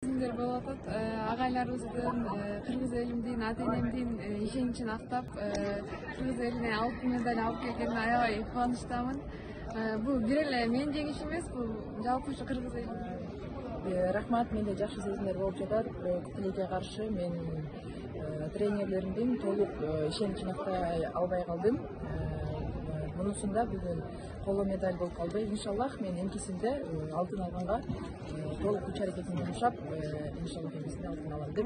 Сезимдер болуп атат. Агайларыбыздын, кыргыз элимдин, ата энемдин ишеничин актап, кыргыз элине алтын медаль алып келгенине аябай кубанычтамын. Бул бир эле менин жеңишим эмес, бул жалпы ушу кыргыз элинин. Рахмат, менде жакшы сезимдер болуп жатат. Бирок тилекке каршы мен тренерлеримдин толук ишеничин актай албай калдым. Мунусунда бүгүн коло медаль болуп калды. Иншаллах мен энкисинде алтын алганга толук күч аракетимди жумшап, иншаллах энкисинде алтын алам деп